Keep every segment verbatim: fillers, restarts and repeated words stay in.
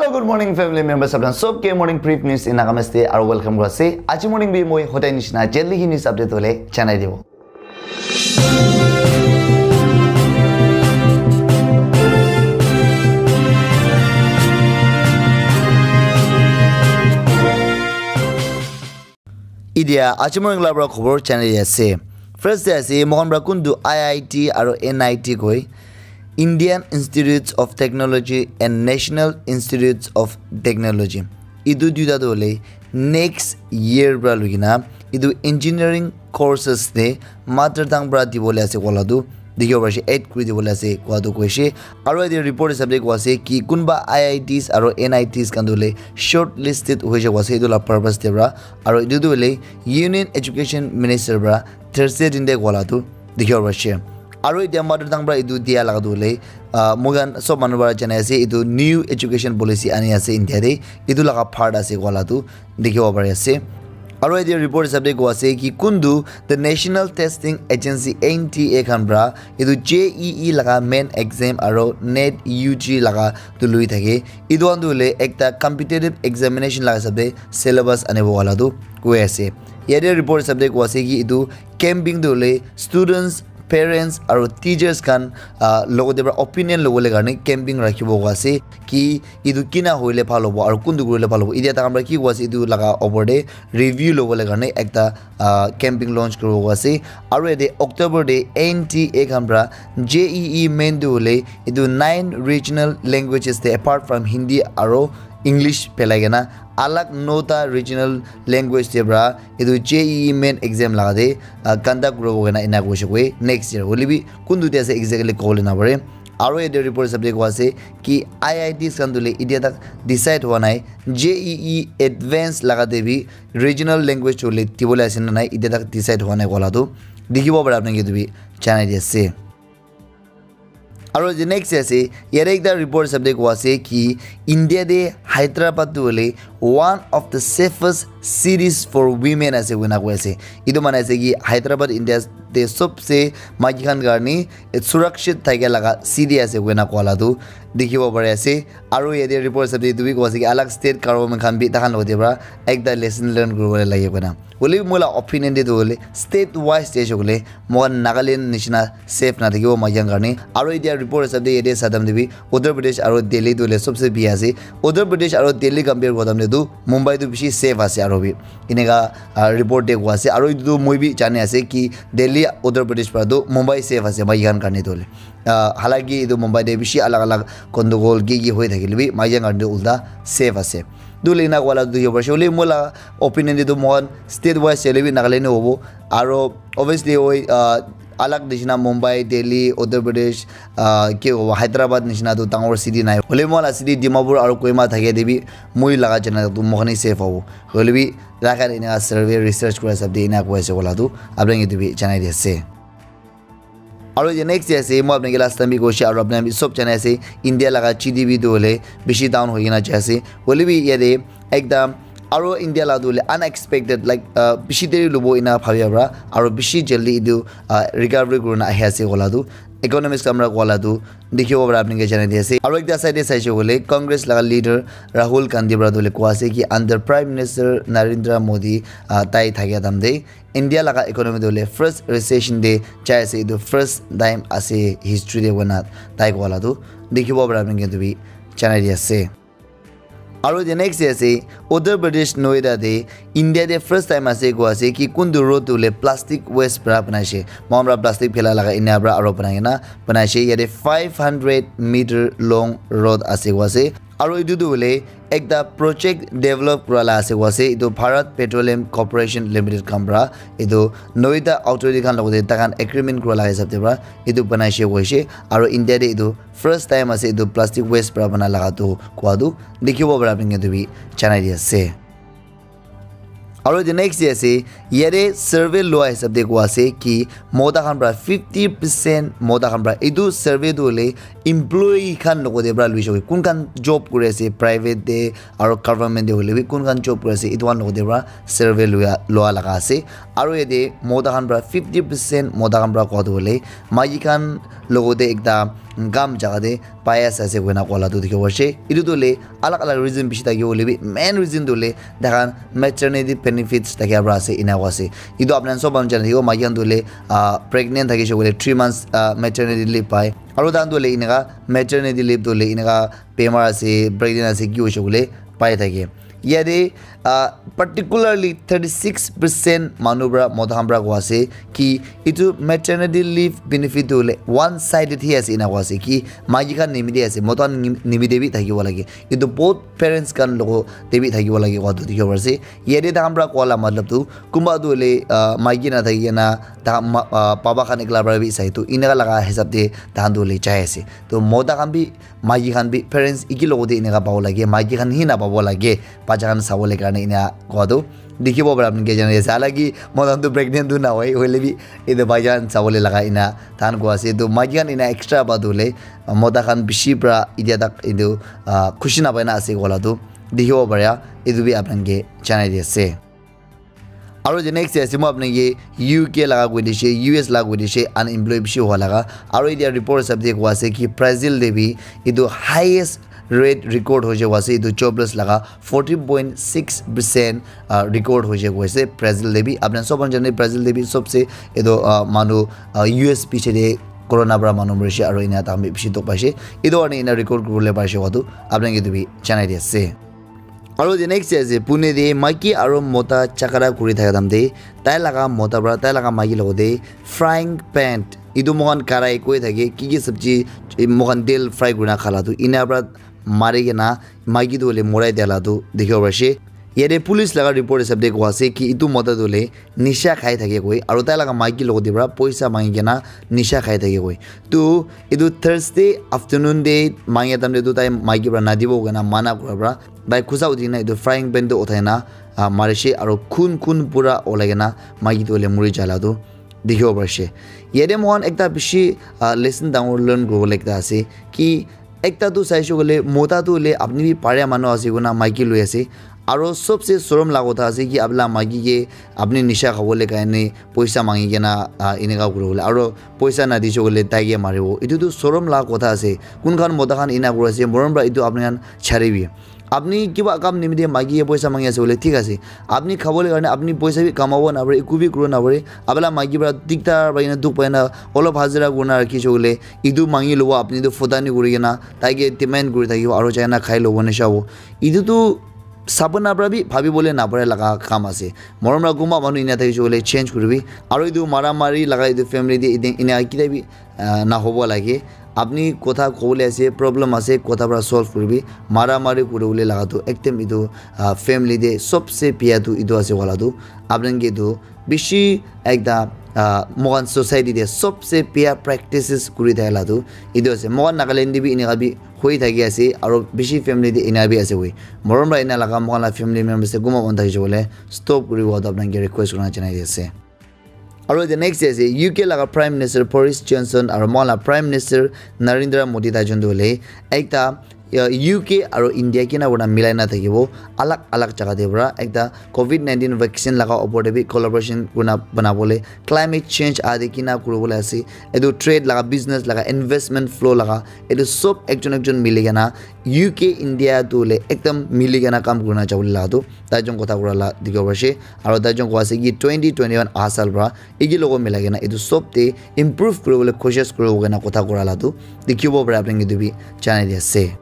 Good morning, family members. Apna sob ke morning brief news in Nagamese te aru welcome kura ase. Aji morning bi moi hodai nishina jaldi hi news update hole janai dibo. Idia aji morning la pra khobor janai ase. First te ase, mohan pra kuntu I I T aru N I T koi, Indian Institutes of Technology and National Institutes of Technology. Itu duita tu hole next year pra lugina itu engineering courses te mother tongue pra dibole ase kola tu dikhibo parishe, add kuri dibole ase koa tu koishe. Aru yate report hisab te koa ase ki kunba I I Ts aru N I Ts khan tu hole shortlisted hoise koa ase itu la purpose te pra. Aru itu tu hole Union Education Minister pra Thursday din te koa la tu dikhibo parishe. Aru etia mother tongue pra itu dia laga tu hole, ah, moi khan sob manu para janai ase, itu new education policy ani ase India te, itu laga part ase koa la tu dikhibo pari ase. Aru etia report hisab te koa ase ki kuntu the National Testing Agency, N T A khan pra itu J E E laga main exam aru NET U G laga tu lui thake. Itu khan tu hole ekta competitive examination laga hisab te syllabus anibo wala tu koi ase. Yate report hisab te koa ase ki itu camping tu hole students, parents aru teachers khan, ah, logote pra opinion lobole karne camping rakhibo koa ase ki itu kina hoile bhal hobo aru kuntu kurile bhal hobo. Itia takhan pra ki koa ase itu laga opor te review lobole karne ekta, ah, camping launch kuribo koa ase. Aru yate October te N T A khan pra J E E main tu hole itu nine regional languages te apart from Hindi aru English pelai kena alag nota regional language te pra itu J E E main exam laga te, ah, conduct kuribo kena ena koishe koi next year. Hoile bi kuntu te ase exactly kobole na pare. Aru yate report hisab te koa ase ki I I Ts khan tu hole itia tak decide hua nai, J E E advance laga te bi regional language hole dibole ase na nai, itia tak decide hua nai koa la tu dikhibo pare apni ke tu bi janai di ase. Aru the next ase, yate ekta report hisab te koa ase ki India te Hyderabad tu hole one of the safest cities for women ase koina koi ase. Itu mane ase ki Hyderabad India te sobse maiki khan karne surakshit thakia laga city ase koina koa la tu dikhibo pari ase. Aru yate report hisab te itu bi koa ase ki alag state government khan bi takhan logote pra ekta lesson learn kuribole lage koina. Hoile bi moi la opinion te tu hole state wise te hoise koile moikhan Nagaland nishina safe nathakibo maiki khan karne. Aru itia report hisab te yate sadam te bi Uttar Pradesh aru Delhi tu hole sobse bia ase. Uttar Pradesh aru Delhi compare kura time te tu Mumbai tu bishi safe ase aru bi. Eneka, ah, report te koa ase. Aru itu tu moi bi jani ase ki Delhi, Uttar Pradesh pra tu Mumbai safe ase maiki khan karne tu hole. Ah, halaki itu Mumbai te bishi alag alag gondogol ki ki hoi thakile bi maiki khan karne tu ulta safe ase. Tu hole ena koa la tu dikhibo parishe. Hoile moi la opinion te tu moikhan state wise hoile bi Nagaland he hobo. Aru obviously hoi, ah, alag nishina Mumbai, Delhi, Uttar Pradesh, ah, ki hobo, Hyderabad nishina tu dangor city nai. Hoile moi la city Dimapur aru Kohima thakia te bi moi laga jana tu moikhan he safe hobo. Hoile bi laga ena survey research kura hisab te ena koi ase koa la tu apni ke tu bi janai di ase. Aru the next day ase, moi apni ke last time bi koishe, aru apni khan bi sob janai ase, India laga G D P tu hole bishi down hoi kena jai ase. Hoile bi yate ekta aru India la tu hole unexpected, like, uh, bishi deri lobo ena bhabia pra, aru bishi jaldi etu, uh, recovery kurina ahi ase koa la tu. Economics khan pra koa la tu dikhibo para apni ke janai di ase. Aru ekta side te saishe koile Congress laga leader Rahul Gandhi para tu hole koa ase ki under Prime Minister Narendra Modi, ah, tai thakia time te India laga economy tu hole first recession te jai ase, etu first time ase history te koina tai koa la tu dikhibo para apni ke tu bi janai di ase. Aru the next day ase, Uttar Pradesh Noida te India te first time ase koa ase ki kuntu road tu hole plastic waste para banaishe. Mohan para plastic phela laga ena para aru banai kena banaishe. Yate five hundred meter long road ase koa ase. Aru etu tu hole ekta project develop kura la ase koa ase. Etu Bharat Petroleum Corporation Limited khan para etu Noida authority khan logote takhan agreement kura la hisab te para etu banaishe koishe. Aru India te etu first time ase etu plastic waste para bana laga tu koa tu dikhibo para apni ke tu bi janai di ase. Aru the next day ase, yate survey lua hisab te koa ase ki mota khan para fifty percent mota khan para, etu survey tu hole employee khan logote para luishe koi, kun khan job kuri ase private te aru government te hole bi kun khan job kuri ase etu khan logote para survey lua, lua laga ase. Aru yate mota khan para fifty percent mota khan para koa tu hole maiki khan logote ekta gam jaga te bias ase koina koa la tu dikhibo ase. Etu tu le alag alag reason bishi thakibo hoile bi main reason tu le takhan maternity benefits thakia pra ase ena koa ase. Etu apni khan sob manu jana thakibo, maiki khan tu le, ah, pregnant thakishe koile three months, ah, maternity leave pai. Aru takhan tu le eneka maternity leave tu le eneka bemar ase, pregnant ase, ki hoishe koile pai thake. Yate, ah, particularly thirty six percent manu pra, mota khan pra koa ase ki etu maternity leave benefit tu hoile one sided hi ase ena koa ase ki maiki khan nimite ase, mota khan nim-, nimite bi thakibo lage. Etu both parents khan logo te bi thakibo lage koa tu dikhibo pari ase. Yate takhan pra koa la matlab tu kunba tu hoile, ah, maiki na thaki kena ta ma-, ah, baba khan ekla pra bi sai tu eneka laga hisab te takhan tu hoile jai ase. To mota khan bi maiki khan bi parents iki logo te eneka pabo lage, maiki khan hi na pabo lage, bacha khan sabo le karne ena koa tu dikhibo para apni ke jana ase. Halaki mota khan tu pregnant tu na hoi, hoile bi etu bacha khan sabo le laga ena takhan koa ase. To maiki khan ena extra pa tu le mota khan bishi pra idia tak etu, ah, khushi na pai na ase koa la tu dikhibo para, etu bi apni ke janai di ase. Aru the next ase, moi apni ke U K laga koi dishe, U S laga koi dishe, unemployed bishi hua laga. Aru etia report hisab te koa ase ki Brazil te bi etu highest rate record hoise koa ase, etu jobless laga fourteen point six percent, ah, record hoise koa ase Brazil te bi. Apni sob jane Brazil te bi sobse etu, ah, manu, ah, U S piche te corona pra manu morishe aru ena takhan bi bishi dukh paishe. Etu karne ena record kuribole parishe koa tu apni ke etu bi janai di ase. Aru the next ase, Pune te maiki aru mota jhagara kuri thaka time te tai laga mota pra tai laga maiki logo te frying pan, etu moikhan karai koi thake, ki ki sabji, eh, moikhan tel fry kurina khala tu, ena pra mari kena maiki tu hoile morai dia la tu dikhibo pari ase. Yate police laga report hisab te koa ase ki etu mota tu hoile nisha khai thake koi, aru tai laga maiki logo te pra poisa mangi kena nisha khai thake koi. Tu etu Thursday afternoon te mangi time te tu tai maiki pra nadibo koina mana kura pra tai khusa uthi kena etu frying pan tu uthai na, ah, marishe aru khun khun pura olai kena maiki tu hoile muri jala tu dikhibo parishe. Yate moikhan ekta bishi, ah, lesson dangor learn kuribole ekta ase ki ekta tu saishe koile mota tu hoile apni bi paria manu ase koina maiki loi ase. Aru sobse sorom la kotha ase ki apni la maiki ke apni nisha khabole karne poisa mangi kena, ah, eneka kuribole. Aru poisa nadishe koile tai ke maribo. Etu tu sorom la kotha ase. Kun khan mota khan ena kuri ase, morom pra etu apni khan charibi. Apni kiba kam nimite maiki ke poisa mangi ase koile thik ase. Apni khabole karne apni poisa bi kamabo napare, eku bi kuribo napare. Apni la maiki pra diktar pai kena dukh pai kena olop hajira kurina rakhishe koile etu mangi lobo, apni tu futani kuri kena tai ke demand kuri thakibo aru jai kena khai lobo nisha hobo. Etu tu sapna pra bi bhabibole napare laga kam ase. Morom pra kunba manu ena thakishe koile change kuribi. Aru etu mara mari laga etu family te ene-, ena kita bi, ah, nahobo lage. Apni kotha kobole ase, problem ase, kotha pra solve kuribi. Mara mari kuribole laga tu ekdom etu, ah, family te sobse bia tu etu ase wala tu. Apni ke tu bishi ekta, ah, moikhan society te sobse bia practices kuri thaka la tu etu ase. Moikhan Nagaland te bi eneka bi hoi thaki ase, aru bishi family te ena bi ase hoi. Morom pra ena laga moikhan la family members te kunba manu thakishe koile stop kuribo tu apni ke request kurina janai di ase. Aru the next ase, U K laga Prime Minister Boris Johnson aru moikhan la Prime Minister Narendra Modi tai jun tu hoile ekta, uh, U K aru India kina kurina milai na thakibo, alag alag jaga te pra ekta covid nineteen vaccine laga opor te bi collaboration kurina banabole, climate change ade kina kuribole ase, etu trade laga, business laga, investment flow laga, etu sob ekjon ekjon mili kena U K India tu hoile ekdam mili kena kam kurina jabole laga tu tai jun kotha kura la dikhibo parishe. Aru tai jun koa ase ki twenty twenty-one aha saal pra eki logo milai kena etu sob te improve kuribole koshish kuribo kena kotha kura la tu dikhibo para apni ke etu bi janai di ase.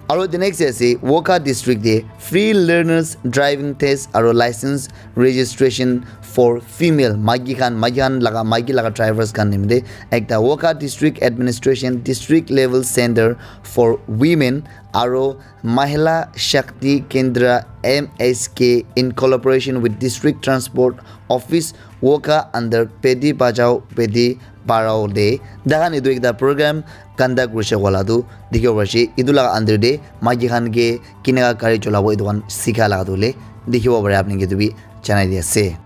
Aru the next ase, Wokha district te free learners driving test aru license registration for female, maiki khan, maiki khan laga, maiki laga drivers khan nimite ekta Wokha district administration district level center for women aru Mahila Shakti Kendra, M S K, in collaboration with District Transport Office, Wokha under Beti Bachao Beti Padhao te, tai khan etu ekta program conduct kurishe koa la tu dikhibo parishe. Etu laga under te maiki khan ke kineka gari cholabo etu khan sikha laga tu hoile dikhibo pare, apni ke etu bi janai di ase.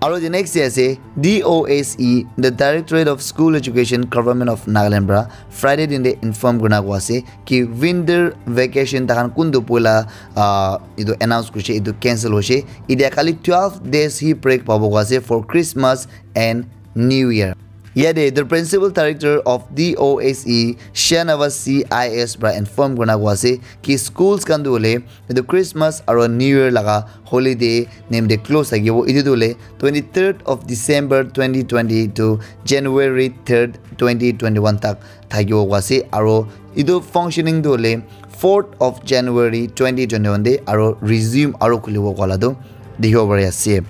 Aru the next day ase, D O S E, the Directorate of School Education, Government of Nagaland pra Friday din te inform kurina koa ase ki winter vacation tai khan kuntu poila, ah, etu announce kurishe, etu cancel hoishe. Etia khali twelve days hi break pabo koa ase for Christmas and New Year. Yate the principal director of D O S E Shahnawaz C I S pra inform kurina koa ase ki schools khan tu hoile etu Christmas aro New Year laga holiday nimite close thakibo. Etu tu hoile twenty-third of December twenty twenty to January third, twenty twenty-one tak thakibo koa ase. Aro etu functioning tu hoile fourth of January twenty twenty-one te aro resume aro khulibo koa la tu dikhibo pari ase.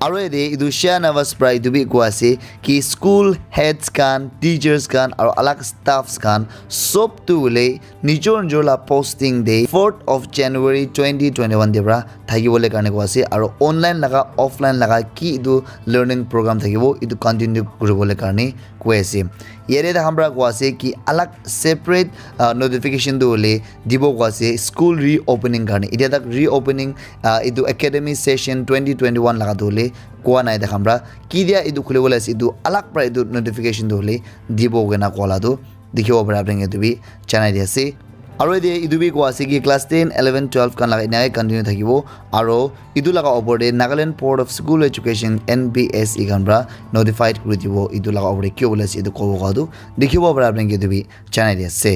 Aro yate etu Shahnawaz pra etu bi koa ase ki school heads khan, teachers khan aro alag staffs khan sob tu hoile nijor nijor la posting te fourth of January twenty twenty-one te pra thakibole karne koa ase aro online laga offline laga ki etu learning program thakibo etu continue kuribole karne koi ase. Yate takhan pra koa ase ki alag separate uh, notification tu hoile dibo koa ase school reopening karne. Etia tak reopening uh, etu academy session twenty twenty-one laga tu hoile koa nai takhan pra. Ketia etu khulibole ase etu alag pra etu notification tu hoile dibo koina koa la tu dikhibo pari apni khan etu bi janai di ase. Aro yate etu bi koa ase ki class ten, eleven, twelve khan laga enaka continue thakibo. Aro etu laga opor te Nagaland Board of School Education, N B S E khan pra notified kuri dibo etu laga opor te ki hobole ase etu kobo koa tu dikhibo pari apni khan etu bi janai di ase.